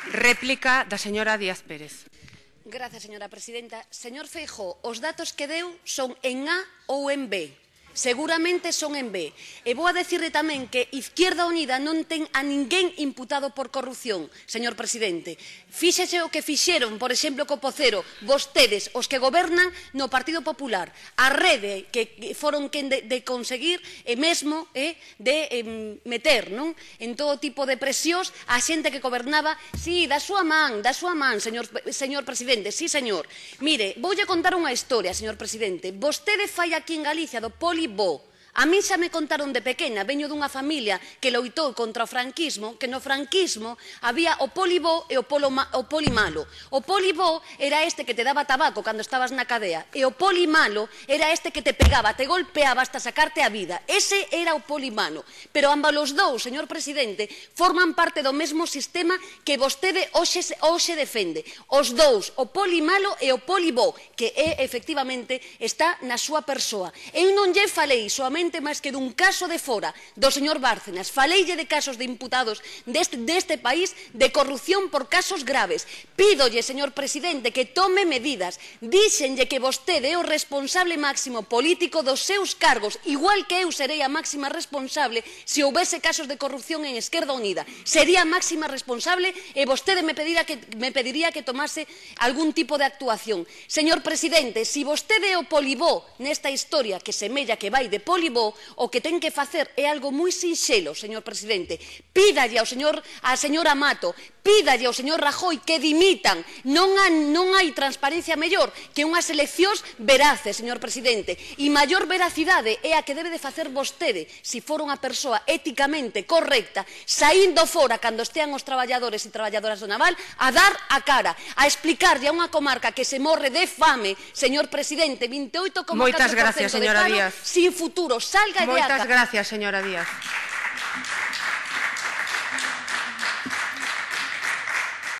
Réplica da señora Díaz Pérez. Gracias, señora presidenta. Señor Feijóo, os datos que deu son en A ou en B. Seguramente son en B. E vou a decirle tamén que Izquierda Unida non ten a ninguén imputado por corrupción, señor presidente. Fíxese o que fixeron, por exemplo, co Pocero, vostedes, os que gobernan no Partido Popular, a Rede, que foron quen de conseguir e mesmo de meter en todo tipo de presións a xente que gobernaba, sí, da súa man, señor presidente, sí, señor. Mire, voulle contar unha historia, señor presidente. Vostede fai aquí en Galicia do Polibó. A mí xa me contaron de pequena, veño dunha familia que loitou contra o franquismo, que no franquismo había o polibó e o polimalo. O polibó era este que te daba tabaco cando estabas na cadea e o polimalo era este que te pegaba, te golpeaba hasta sacarte a vida. Ese era o polimalo. Pero ambos os dous, señor presidente, forman parte do mesmo sistema que vostede hoxe defende. Os dous, o polimalo e o polibó, que efectivamente está na súa persoa. Eu non lle falei soamente máis que dun caso de fora do señor Bárcenas. Faleille de casos de imputados deste país de corrupción por casos graves. Pídolle, señor presidente, que tome medidas. Díxenlle que vostede é o responsable máximo político dos seus cargos, igual que eu serei a máxima responsable se houbese casos de corrupción en Esquerda Unida. Sería a máxima responsable e vostede me pediría que tomase algún tipo de actuación. Señor presidente, se vostede é o polibó nesta historia que semella que vai de polibó, o que ten que facer é algo moi sinxelo, señor presidente. Pídalle a señora Mato, pídalle ao señor Rajoy que dimitan. Non hai transparencia mellor que unhas eleccións veraces, señor presidente. E maior veracidade é a que debe de facer vostede, se for unha persoa éticamente correcta, saindo fora cando estean os traballadores e traballadoras do naval, a dar a cara, a explicarlle a unha comarca que se morre de fame, señor presidente, 28,4% de paro, sin futuro. Salga de acá. Moitas gracias, señora Díaz.